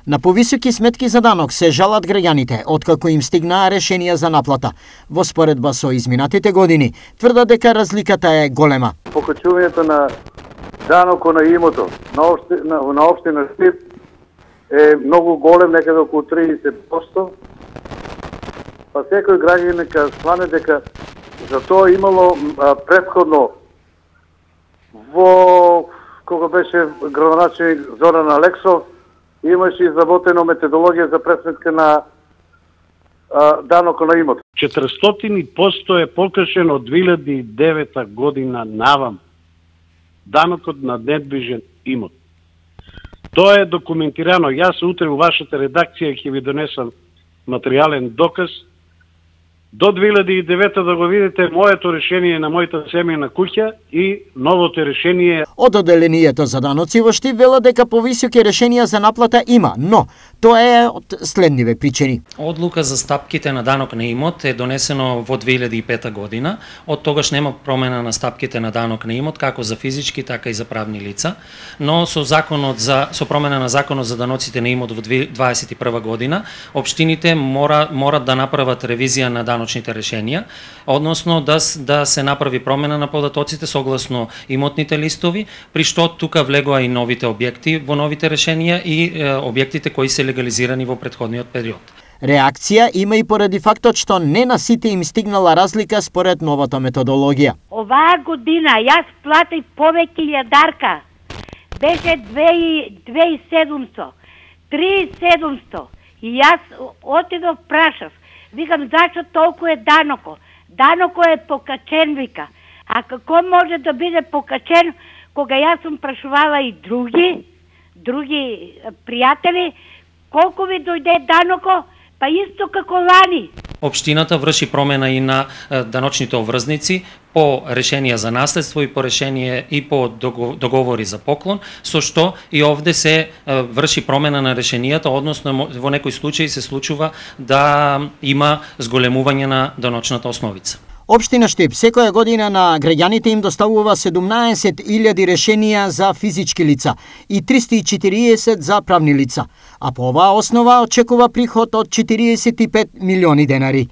На повисоки сметки за данок се жалат граѓаните откако им стигнаа решенија за наплата. Во споредба со изминатите години, тврдат дека разликата е голема. Покачувањето на данокот на имото на општина Штип е многу голем, некаде околу 30%. Па секој граѓанин нека сване дека за тоа имало претходно кога беше градоначелник Зоран Алексов, имаше изработено методологија за пресметка на данокот на имот. 400% е покажен од 2009 година навам. Данокот на недвижен имот. Тоа е документирано. Јас утре во вашата редакција ќе ви донесам материјален доказ. До 2009 да го видите моето решение на мојата семејна куќа и новото решение. Од одделението за даноци во Штип велат дека повисоки решенија за наплата има, но тоа е од следниве причини. Одлука за стапките на данок на имот е донесено во 2005 година. Од тогаш нема промена на стапките на данок на имот како за физички, така и за правни лица, но со промена на законот за даноците на имот во 2021 година, општините морат да направат ревизија на даночните решенија, односно да се направи промена на податоците согласно имотните листови, при што тука влегоа и новите објекти во новите решенија и објектите кои се легализирани во претходниот период. Реакција има и поради фактот што не на сите им стигнала разлика според новата методологија. Оваа година јас платив повеќе јадарка. Беше 2700, 3700. И јас отидов прашав. Викам, зашто толку е даноко? Даноко е покачен, вика. А како може да биде покачен, кога јас сум прашувала и други пријатели, колку ви дојде даноко? Па исто како лани. Општината врши промена и на даночните обврзници по решенија за наследство и по решение и по договори за поклон, со што и овде се врши промена на решенијата, односно во некој случај се случува да има зголемување на даночната основица. Општина Штип секоја година на граѓаните им доставува 17.000 решенија за физички лица и 340 за правни лица, а по оваа основа очекува приход од 45 милиони денари.